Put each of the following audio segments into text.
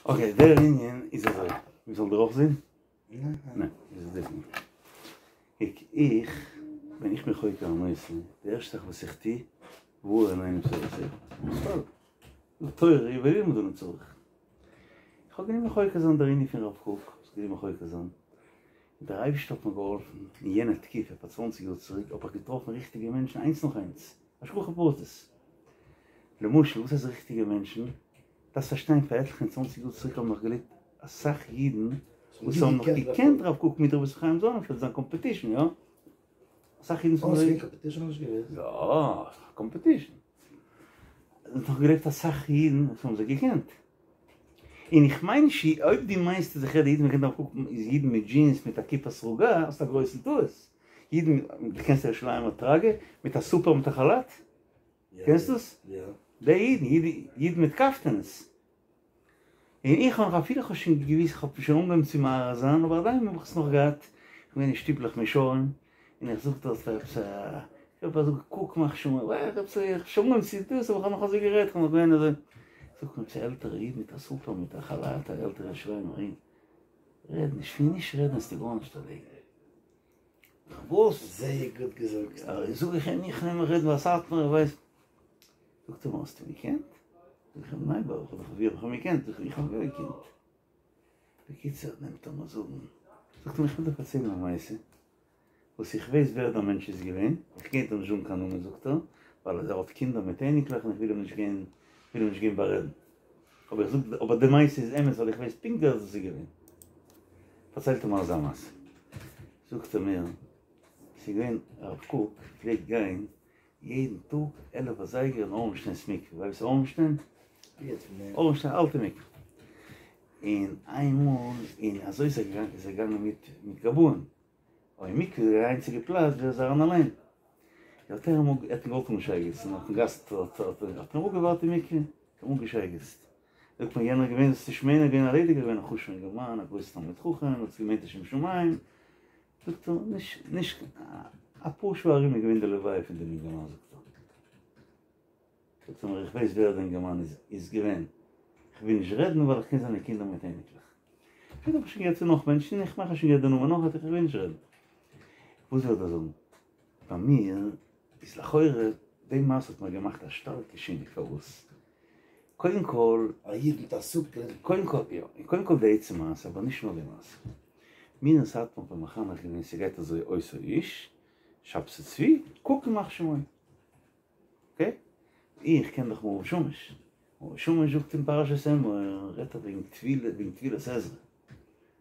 אקעי, דער ענין איז אזוי, מ'זאל דיר אויך זעהן? ניין, איז דאס נישט. קוק, איך, ווען איך בין חוקר א נושא, די ערשטע זאך וואס איך טו, והאר עינינו בתורתך. סתם. תורה היא וללמוד אנו צריך. איך האב גענומען חוקר זיין דער ענין פון רב קוק, איך האב גענומען חוקר זיין, און דער אייבערשטער האט מיר געהאלפן, אין יענע תקופה, פאר צוואנציג יאר צוריק, האב איך געטראפן ריכטיגע מענטשן איינס נאך איינס, השגחה פרטית. למשל, וואס הייסט ריכטיגע מענטשן? דארפסט פארשטיין, פאר עטליכע און צוואנציג יאר צוריק האבן נאך געלעבט אסאך אידן וואס האבן נאך געקענט רב קוק מיט רבי ישראל חיים זאנענפעלד, זיין קאמפעטישן, יא? אסאך אידן וואס האבן. קאמפעטישן האב איך נישט געוואוסט. יא, קאמפעטישן. עס האט נאך געלעבט אסאך אידן וואס האבן זיי געקענט. און איך מיין נישט, אויב דו מיינסט אז איך רעד אידן וואס קענען רב קוק איז אידן מיט דזשינס מיט א כיפה סרוגה, האסט א גרויסן טעות. אידן, דו קענסט ירושלימ'ער טראגע? מיט א סופר מיט א כאלאט? קענסט דאס? די אידן, אידן מיט קאפטענעס. און איך האב נאך אפילו איך האב שוין געוויסט, איך האב שוין אנגעהויבן צו מערער זיין, אבער עדיין האב איך עס נאך געהאט, איך בין געווען אין שטיבלעך מישרים, און איך זאג דארט פאר עפעס א, איך האב אזוי קוק מאך שוין, איך האב שוין אנגעהויבן צו דאס, אבער איך האב נאך אזוי גערעדט, איך האב נאך געווען אזוי, זאגט מיר עפעס א עלטערע איד מיט א סופר מיט א כאלאט, א עלטערע ירושלימער איד, רעד נישט, פון נישט רעדן וועסטו גארנישט ערלעדיגן. וואס? זייער גוט געזאגט. זאג איך אים, איך נעם מיך רעדן ביי סאטמאר, איך ווייס. זאגט ער מיר, האסט אים געקענט? זאג איך אים, ניין ברוך השם, ווי האב איך אים געקענט? זאג איך, איך האב אים יא געקענט. בקיצור, נעמט ער מיר זאגן, זאגט ער מיר, איך וויל דיר פארציילן א מעשה, וואס איך ווייס ווער דער מענטש איז געווען, איך גיי דיר נישט זאגן קיין נאמען זאגט ער, ווייל ער האט קינדער מיט אייניקלעך און איך וויל אים נישט גיין, וויל אים נישט גיין בארעדן. אבער איך זאג, אבער די מעשה איז אמת ווייל איך ווייס פונקט ווער דאס איז געווען. פארציילט ער מיר אזא מעשה. זאגט ער מיר, ס'איז געווען הרב קוק פלעגט גיין יעדן טאג עלף אזייגער אין אורנשטיינ'ס מקווה, ווייסט וואס איז אורנשטיין? אורנשטיין אלטע מקווה. און איינמאל, און אזוי איז ער געגאנגען, איז ער געגאנגען מיט מיט גבאים. אבער אין מקווה איז די איינציגע פלאץ ווי ער איז אריין אליין. האט ער אים האט אים געוואלט אנשייגעצן אויפן גאס האט ער אים אפגעווארט אין מקווה, האט אים אנגעשייגעצט. זאגט מיר יענער געווען זאלסט נישט מיינען געווען א ליידיגער געווען א חשוב'ער אינגערמאן א גרויסע תלמיד חכם האט עס געמיינט לשם שמים. זאגט ער נישט נישט אפאר שעה ארום איז געווען די לוויה פון דעם אינגערמאן זאגט ער. זאגט ער מיר איך ווייס ווער דער אינגערמאן איז איז געווען, איך וויל נישט רעדן ווייל איך קען זיינע קינדער מיט אייניקלעך. שפעטער האב איך שוין געהערט פון נאך מענטשן, איך מאך שוין געהערט די נאמען נאך איך וויל נישט רעדן. וואס וויל איך דא זאגן? ביי מיר איז לכאורה די מעשה האט מיר געמאכט א שטארקע שינוי, פארוואס? קודם כל. א איד מיט א סופר. קודם כל יא, קודם כל די עצם מעשה, אבער נישט נאר די מעשה. מיר אין סאטמאר האט מען מחנך געווען ס'גייט אזוי אותו האיש, שבתי צבי, קוק ימח שמו. אקעי? איך קען דאך מאור ושמש. מאור ושמש זאגט אין פרשת אמור, רעדט ער וועגן טבילה, וועגן טבילת עזרא.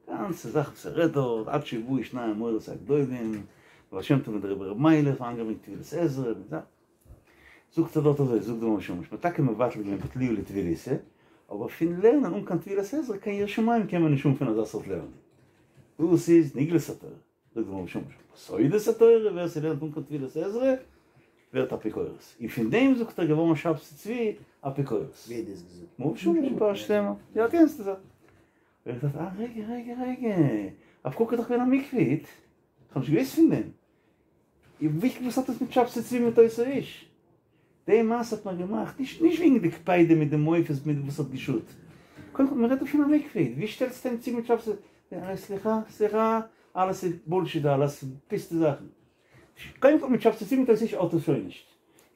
גאנצע זאך וואס ער רעדט דארט, עד שיבואו שני המורות הגדולים, בעל שם טוב מיט דער רבי ר' מיילעך, אריינגעברענגט טבילת עזרא, מיט זאכן. זאגט ער דארט אזוי, זאגט דער מאור ושמש, מ'האט טאקע מבטל געווען בטלוהו לטבילותא, אבער פון לערנען אן קיין טבילת עזרא, קיין יראת שמים קען מען נישט האבן פון אזא סארט לערנען. דאס איז נגלות התורה. זאגט דער מאור ושמש, סודות התורה, ווער ס'לערנט אן קיין טבילת עזרא, ווערט אפיקורס. און פון דעם זאגט ער געווארן שבתי צבי אפיקורס. ווער האט דאס געזאגט? מאור ושמש אין פרשת אמור. יא קענסט עס. האב איך געדאכט אה רגע רגע רגע, הרב קוק איז דאך געווען א מקווה איד, איך האב נישט געוואוסט פון דעם. וואס האט עס מיט שבתי צבי מיט אותו האיש? די מעשה האט מיר געמאכט, נישט נישט וועגן די קפידה מיט די מופת מיט וואס האט געשאדט, קודם כל מ'רעדט דא פון א מקווה איד, ווי שטעלסטו אים צו מיט שבתי, סליחה סליחה, אלעס איז בולשיט אלעס פוסטע זאכן, קודם כל מיט שבתי צבי מיט אותו האיש האט עס שוין נישט,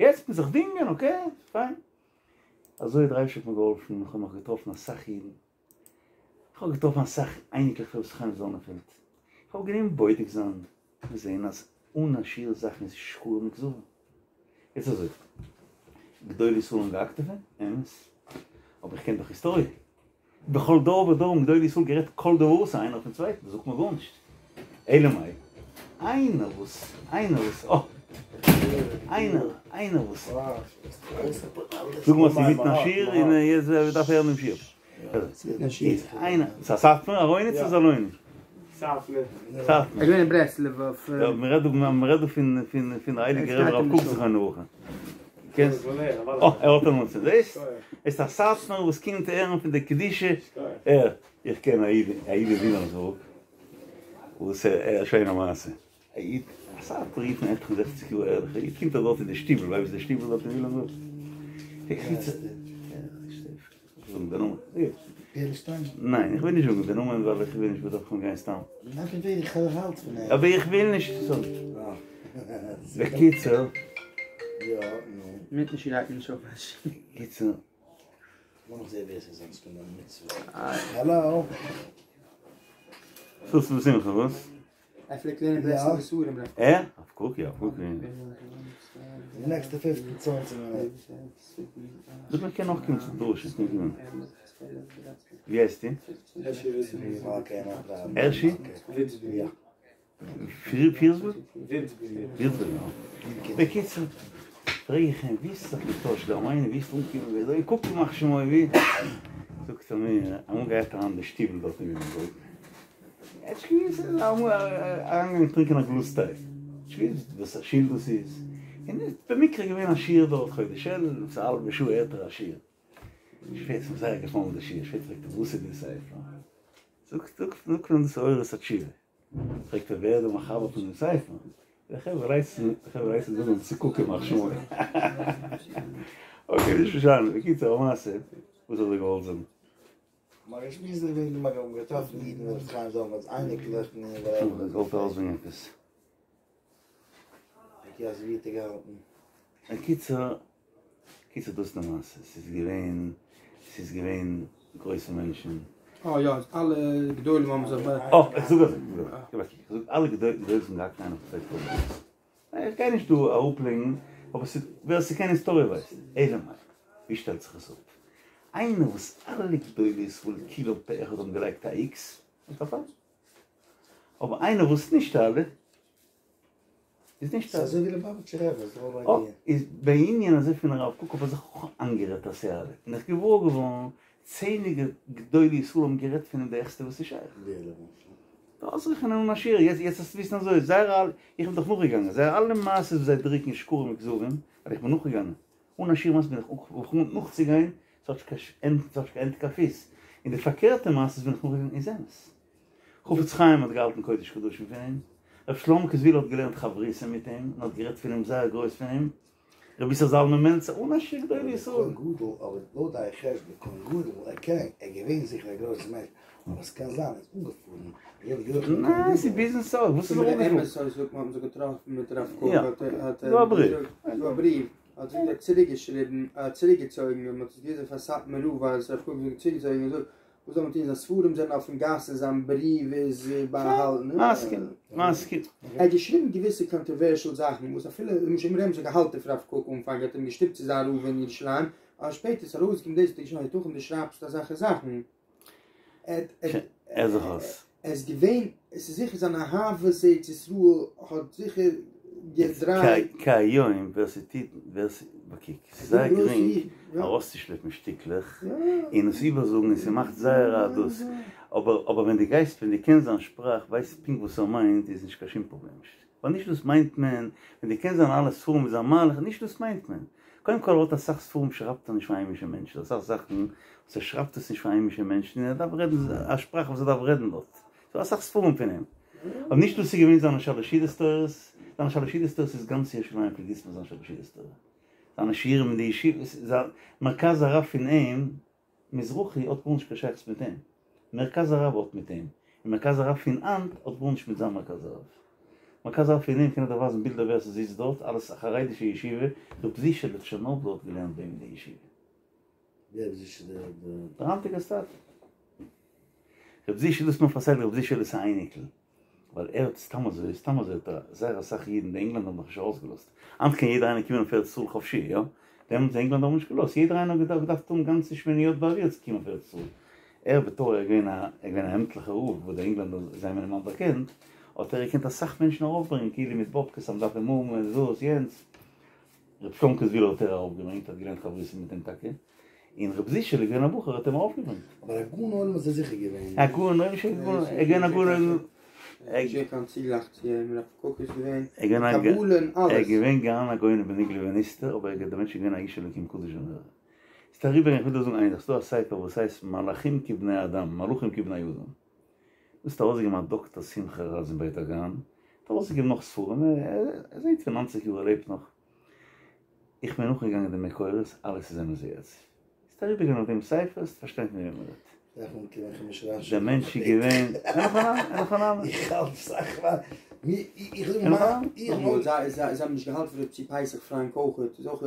יעצט מ'זיך דינגען אקעי פיין, אזוי האט דער אייבערשטער מיר געהאלפן, איך האב נאך געטראפן אסאך אידן, איך האב געטראפן אסאך אייניקלעך פון ר' חיים זאנענפעלד, איך האב גענומען בודק זיין און זען אז אן א שיעור זאכן איז שקרים וכזבים. יעצט אזוי, גדולי ישראל האבן געהאקט אויף אים, אמת, אבער איך קען דאך היסטאריע, בכל דור ודור האבן גדולי ישראל גערעדט כל דבר אסור איינער אויפן צווייטן, דאס זאגט מיר גארנישט. אלא מאי, איינער וואס, איינער וואס, אה! איינער, איינער וואס, זאג מיר אז ס'אינמיטן א שיעור און יעצט דארף הערן דעם שיעור. איינער, ס'איז א סאטמאר ארויני צו זאלויני? סאטמאר. סאטמאר. ער איז געווען אין ברסלב אויף. יא, מ'רעדט דא, מ'רעדט דא פון פון פון די הייליגע רבי הרב קוק זכרונו לברכה. קענסט? אה, ער האט א נאמען, זעסט? עס איז א סאטמאר וואס קומט הערן פון די קדושה. ער, איך קען א איד, א איד אין וויליאמסבורג, וואס ער, א שיינע מעשה. א איד, א סאטמאר איד פון עטליכע זעכציג יאר ערליכע איד, קומט ער דארט אין די שטיבל, ווייסט וואס די שטיבל דארט אין וויליאמסבורג? פערלשטיין? ניין, איך וויל נישט זאגן די נאמען ווייל איך וויל נישט מ'זאל גיין סתם. ניין פון ווער איך האלט פון אים. אבער איך וויל נישט זאגן. בקיצור. יא, נו. מיטן שרייבט מען נישט אויף א. קיצור. לאמיך זעהן ווער ס'איז אונז פון די מצוה. האלאו. ששון ושמחה וואס? ער פלעגט לערנען ברסלב'ע ספרים ר'. ער? הרב קוק יא, קוק יא. די נעקסטע פופצן צוואנציג מינוט. זאג מיר קען נאך קומען צום דרשה, קען קומען. ווי הייסטו? הערשי? פירסבורג? ווירצבורג יא. בקיצור, פרעג איך אים ווי האסט זיך געטוישט דער מיינונג, ווי ביסטו אנגעקומען ווי אזוי, קוק ימח שמו ווי, זאגט ער מיר, אמאל גייט אריין אין די שטיבל דארט אין וויליאמסבורג, ער האט נישט געוואוסט, ער איז אמאל אריינגעגאנגען טרינקען א גלאז טיי, נישט געוואוסט וואס א שול דאס איז, און איז במקרה געווען א שיעור דארט חודש אלול, עפעס א האלבע שעה הערט ער א שיעור, שפעטער איז אים זייער געפאלן די שיעור, שפעטער פרעגט ער וואס איז די ספר, זאגט זאגט מען דאס אורות התשובה, פרעגט ער ווער איז דער מחבר פון דעם ספר, די חברה רייסן די חברה רייסן זאגן צו קוק ימח שמו, אקעי נישט משנה, בקיצור המעשה, וואס האב איך געוואלט זאגן? מ'האט געשמועסט וועגן די מ'האט געטראפן אידן ר' חיים זלמן'ס אייניקלעך און וואטעווער. איך געוואלט ארויסברענגען עפעס. אקעי אז ווי האט ער געהאלטן? בקיצור, קיצור דאס איז די מעשה, ס'איז געווען, ס'איז געווען גרויסע מענטשן. אה יא, אלע גדולים האבן זיך ביי. אה, איך זאג אזוי, איך זאג אלע גדולים האבן געהאט איינער פון זיי פראבלעמס. איך גיי נישט דא אראפלייגן, אבער ס'איז, ווער ס'קען היסטאריע ווייסט. אלא מאי, ווי שטעלט זיך עס אפ? איינער וואס אלע גדולי ישראל כולם פה אחד האבן געלייגט א איקס, איז פארפאלן. אבער איינער וואס נישט אלע, איז נישט אלע. ס'איז אזוי ווי ליובאוויטשער רבי, איז די האול איידיע. איז בענין הזה פון הרב קוק האב איך זיך אויך איינגערעדט אז ס'איז אלע, בין איך געוואר געווארן צענליגע גדולי ישראל האבן גערעדט פון אים די העכסטע וואס איז שייך. ווער למשל? אויסרעכענען אן א שיעור, יעצט יעצט וועסטו וויסן אזוי, זייער אלע, איך בין דאך נאכגעגאנגען, זייער אלע מעשות וואס זיי דרוקן שקרים וכזבים, ווייל איך בין נאכגעגאנגען, אן א שיעור מעשות בין איך אנגעקומען נאכצוגיין, ס'האט נישט קיין ענד, ס'האט נישט קיין ענד קיין פיס, און די פארקערטע מעשות בין איך נאכגעגאנגען איז אמת. חפץ חיים האט געהאלטן קודש קדשים פון אים, ר' שלומ'קע זוויהלער האט געלערנט חברותא מיט אים, און האט גערעדט פון אים זייער גרויס פון אים, רבי איסר זלמן מעלצער אן א שיעור גדולי ישראל. כהן גדול, אבער לויט דיין חשבון כהן גדול, ער קען, ער איז געווען זיכער א גרויסער מענטש, אבער עס קען זיין ער איז אנגעפארן, היות יוחנן כהן גדול. ניין ס'איז ביזנעס אויך, וואס איז ער אנגעפארן? אמת אזוי זאגט מען האט מען זיך געטראפן מיט רב קוק יא, האט ער האט ס'דא א ער בריוו. געזאגט ס'דא א בריוו האט ער צוריק געשריבן ער האט צוריק געצויגן און מען האט עס געוויזן פאר סאטמאר רב אז רב קוק האט צוריק געצויגן און געזאגט וואס זאל מען טון זיין ספרים זענען אויפן גאס און זיין בריוו איז באהאלטן. מסכים, מסכים. ער האט געשריבן געוויסע קאנטערווערשעל זאכן וואס אפילו למשל אמרי אמת האט געהאלטן פון רב קוק אנפאנג האט אים געשטופט צו זיין רב אין ירושלים אבער שפעטער איז ארויסגעקומען דאס האט ער געשריבן היתכן דו שרייבסט אזעלכע זאכן. ער ער זיך אויס. ער איז געווען, עס איז זיכער זיין אהבת ארץ ישראל האט זיכער געדרייט. כהיום ווער ס'טוט ווער ס. בקיק, ס'איז זייער גרינג ארויסצושלעפן שטיקלעך און עס איבערזאגן און ס'מאכט זייער א דאס, אבער אבער ווען דו גייסט ווען דו קענסט זיין שפראך ווייסט פונקט וואס ער מיינט איז נישט קיין שום פראבלעם נישט, ווייל נישט דאס מיינט מען, ווען דו קענסט זיינע אלע ספרים און זיין מהלך נישט דאס מיינט מען, קודם כל ער האט אסאך ספרים שרייבט ער נישט פאר היימישע מענטשן, אסאך זאכן וואס ער שרייבט עס נישט פאר היימישע מענטשן און ער דארף רעדן א שפראך וואס ער דארף רעדן דארט. ס'דא אסאך ספרים פון אים. אבער נישט דאס איז געווען זיינע שלשידעס תורות, זיינע שלשידעס תורות איז גאנץ ירושלים פלעגט וויסן זיין שלשידעס תורה. זיינע שיעורים אין די ישיבה, זיין מרכז הרב פון אים, מזרחי האט גארנישט קיין שייכות מיט אים. מרכז הרב האט מיט אים. און מרכז הרב פון היינט האט גארנישט מיט זיין מרכז הרב. מרכז הרב פון אים קען איך דיר ווייזן בילדער ווער ס'זיצט דארט, אלעס א חרדישע ישיבה, ר' זישעלע טשערנאבלער האט געלערנט ביי אים אין די ישיבה. ווער איז זישע דער? דער היינטיגער סטייפלער. רב זישע דאס מיר פארציילט רב זישעלעס א אייניקל, ווייל ער האט סתם אזוי, סתם אזוי האט ער זייער אסאך אידן, די ענגלענדער האבן דאך נישט ארויסגעלאזט, היינט קען יעדער איינער קומען אויף ארץ ישראל חופשי, יא? דעמאלטס די ענגלענדער האבן נישט געלאזט, יעדער איינער האט געדארפט האבן גאנצע שמיניות באוויר צו קומען אויף ארץ ישראל, ער בתור ער איז געווען א ער איז געווען א עמטליכער רב וואס די ענגלענדער זיי האבן אים אנערקענט, האט ער געקענט אסאך מענטשן ארויפברענגען כאילו מיט באבקעס אז מ'דארף אים האבן און דאס יענץ. ר' שלומקע זוויהלער האט ער ארויפגעברענגט, האט געלערנט חברותא מיט אים טאקע, און ר' זישעלע איז געווען א בחור האט אים ארויפגעברענגט. אבער א גאון עולם איז ער זיכער געווען. א גאון עולם שוין געווען, ער איז געווען א גאון עולם. נישט געווען קיין צוגלייך צו אים, רב קוק איז געווען קבלה און אלעס. ער איז געווען גאון א גאון בנגלה ובנסתר, אבער דער מענטש איז געווען א איש אלוקים קדוש ונורא. ס'איז אריבער, איך וויל דיר זאגן איין זאך, ס'איז דא א ספר וואס הייסט מלאכים כבני אדם, מלאכים כבני אדם. דאס האט ארויסגעגעבן א דאקטער שמחה רז אין בית וגן, האט ארויסגעגעבן נאך ספרים, ער איז איינס פון ניינציג יאר ער לעבט נאך, איך בין נאכגעגאנגען די מקורות, אלעס איז אמת ויציב, וועסט אריבערגיין אויף דעם ספר וועסטו פארשטיין פון וועם מען רעדט. דער מענטש איז געווען, אין הכי נמי, אין הכי נמי. איך האלט סאך פאר, איך זאג מה, איך מאל. זיי זיי האבן נישט געהאלטן פון רב צבי פסח פראנק אויכעט, איז אויך.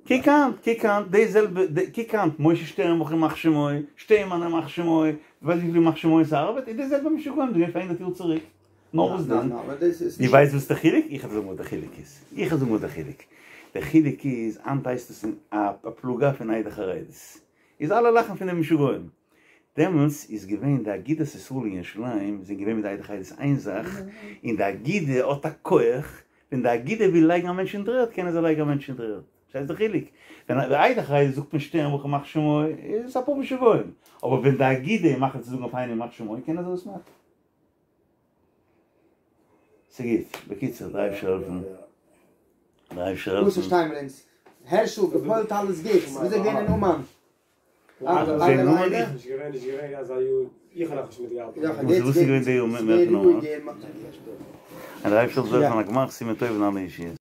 קוק היינט, קוק היינט, די זעלבע, קוק היינט, משה שטערנבוך ימח שמו, שטיינמאן ימח שמו, ווייסט וויפיל ימח שמו'ס ארבעט, איז די זעלבע משוגעים געווען פאר הונדערט יאר צוריק. נאר וואס דען? דו ווייסט וואס די חילוק? איך וועל זאגן וואס די חילוק איז. איך וועל זאגן וואס די חילוק. די חילוק איז, היינט הייסט עס א פלוגה פון עדה חרדית. איז אלע לאכן פון די משוגעים. דעמאלטס איז געווען די אגודת ישראל אין ירושלים זענען געווען מיט די עדה חרדית איין זאך, און די אגודה האט א כח, ווען די אגודה וויל לייגן א מענטש אין דר'ערד קענען זיי לייגן א מענטש אין דר'ערד. פארשטייסט די חילוק? ווען די עדה חרדית זאגט מען שטערנבוך ימח שמו איז עס אפאר משוגעים. אבער ווען די אגודה איז מחליט צו זאגן אויף איינעם ימח שמו קענען זיי דאס מאכן. ס'גוט. בקיצור, דער אייבערשטער העלפן. דער אייבערשטער העלפן. וואס פארשטיי מיר אונז? הערשל, געפועלט אלעס גוטס. וויאזוי געווען אין אומאן? וואס איז געווען די יאר מער פון אומאן? דער אייבערשטער זאל העלפן א גמר חתימה טובה און אלע ישועות.